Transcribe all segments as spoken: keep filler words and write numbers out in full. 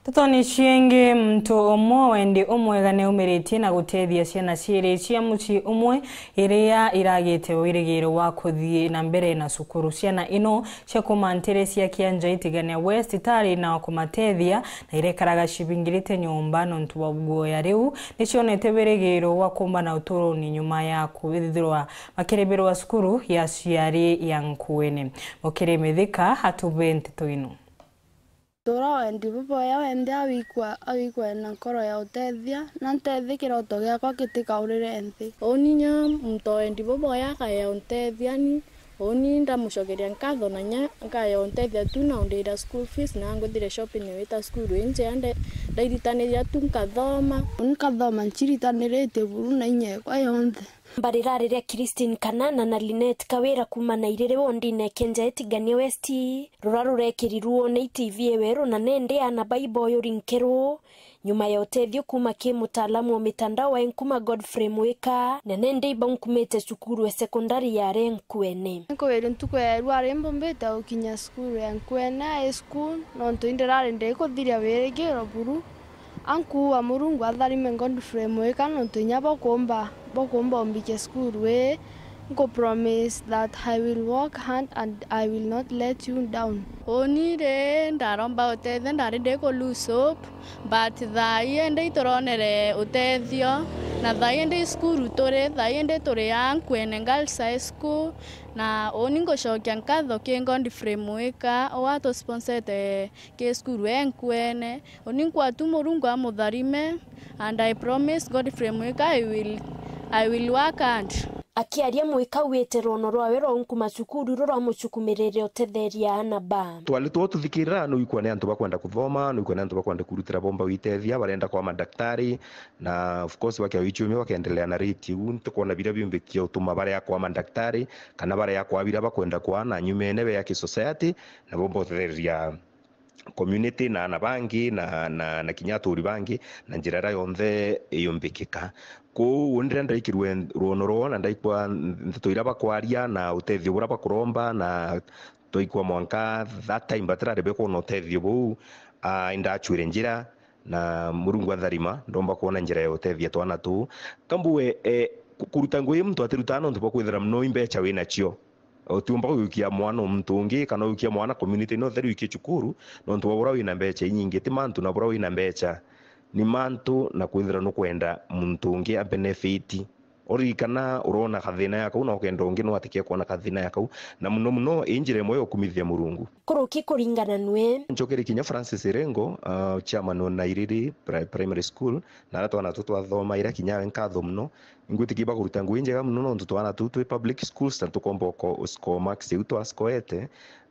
Ntetone ciingi, muntu umwe wendi umwega niumiritie na guteethia ciana ciiri cia mucii umwe iria iragite wirigiro wa kuthii na mbere na cukuru. Ciana ino cia kuuma nteere cia Kianja Itigania West itari na wa kumateethia na irekaraga cibingirite nyomba nontu bwa guoya. Riu nicionete wirigiro wa kuumbana uturoni nyuma ya kwithirwa makiribirwa cukuru ya aciari ya Nkuene. Mukiri Mithika atube nteto ino. Tura wendi buboya, wende awikwa, awikwa ena nkoro ya uteethia, na nteethie kiroto giakwa gitikaurire nthi. Uni nya muntu wendi buboya akaya unteethia ni, uni ndamucokeria nkatho na nya nkaya unteethia tu na undira school fees na nguthire shopping wita cukuru injea nde-, ndairitaniria tu nkathoma. Uni nkathoma nciritaniritie buru na inya ekwa yonthe. Mbarira riria Christine Kanana na Linet Kawira kuuma Nairiri wondine Kenja Itigania West, rura rurekirirwo ni T V eweru na nende ana baiboyuri nkeru, nyuma ya utethio kuuma ki mutaalamu wa mitandao wa Enkuma Godfrey Mwika, na nende ibaunkumite cukuru e sekondari ya Renkuene. Nkugeria ntuku ya erua ari mbumbite gukinya cukuru ya Nkuene High School, nontu indirari ndikuthiria wirigiro buru. Ankuua Murungu atharime Godfrey Mwika nontu inya bokumba, bokumba umbikia cukuru ii, nku promise that I will work hard and I will not let you down. Uni ri ndaromba utethio, ndari ndiku lose hope, but thaa ii ndi ituronere utethio, na thaa ii ndi cukuru turi, thaa ii ndi turi a Nkuene Girls High School, na uni ngucokia nkatho ki Godfrey Mwika, uria atusponsete ki cukuru e Nkuene. Uni nkwatu Murungu amutharime, and I promise Godfrey Mwika I will, I will work hard. Akiaria, Mwika auite rwono rwawe rwa unkuma cukuru ruramucukumirire utetheria ana ba. Twari two tuthikirira, nuikwa ni antu bakwenda kuthoma, nuikwa ni antu bakwenda kurutira bomba witethia, barenda kwa madaktari, na of course bakia wichumia bakendelea na rate iu, ntikwona biria biumbikia utuma baria kwa madaktari, kana baria kwa biria bakwenda kwa, na nyumene bea ki society, na bomba utetheria community na ana bangi na, na, na kinya aturi bangi na njira iria yonthe yumbikika. Kwou uni riria ndaikirwe rwono rwoo na ndaikwa ndeto iria bakwaria na utethio buria bakuromba na twaikwa mwanka that time batirari bekwona utethio buu, ah, indachwire njira na Murungu atharima ndomba kwona njira ya utethia twana tuu. Kambue, eh, ku-, kuruta ngugi muntu atirutaa nontu bwa kwithira mono imbecha winacio. Utiumba guikia mwana o muntu ungi, kana uikia mwana community no theru ikie cukuru, nontu bwa buria wina mbecha inyingi. Ti mantu na buria wina mbecha, ni mantu na kwithira nukwenda muntu ungi a benefit. Uririkana urona kathina ya kau, na ukenda ungi no atikie kwona kathina ya kau. Na muno muno, ii njira imwe ya ukumithia Murungu. Kuruki kuringana nwe. Nchokere kinya Francis Irengo, uh, chairman wa Nairiri Pri-, Primary School, na aria twana tu twathomaira kinya we nkatho muno. Ingwitikia bakuruta ngugi njega mono nontu twana tuu twi public schools na tukomba uko-, score marks iu twascoete.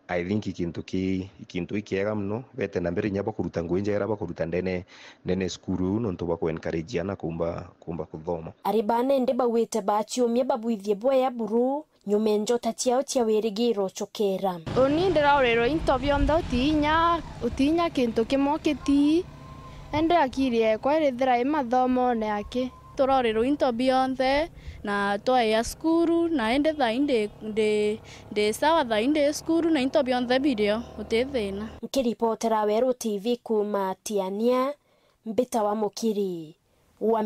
I think ikintu ki-, ikintu ikiega mono, bete na mbere inya bakuruta ngugi njega iria bakuruta ndene, ndene cukuru iu nontu bwa ku encourage ana kumba, kumba kuthoma. Ari bana indi bauite bachiumia babwithie bwea buru, nyume njota ciao cia wirigiro ucokera. Uni ndiraurirwe into bionthe, utiinya, utiinya kintu kimwe ukitii, indi akiri ekwa irithira i mathomone aki. Turorirwe into bionthe na twaia cukuru, na indi thaa ii ndi, ndi, ndi sawa, thaa ii ndi cukuru na into bionthe birio, uti thina. Nkiripotera Weru T V kuuma Tiania, mbitawa Mukiri wa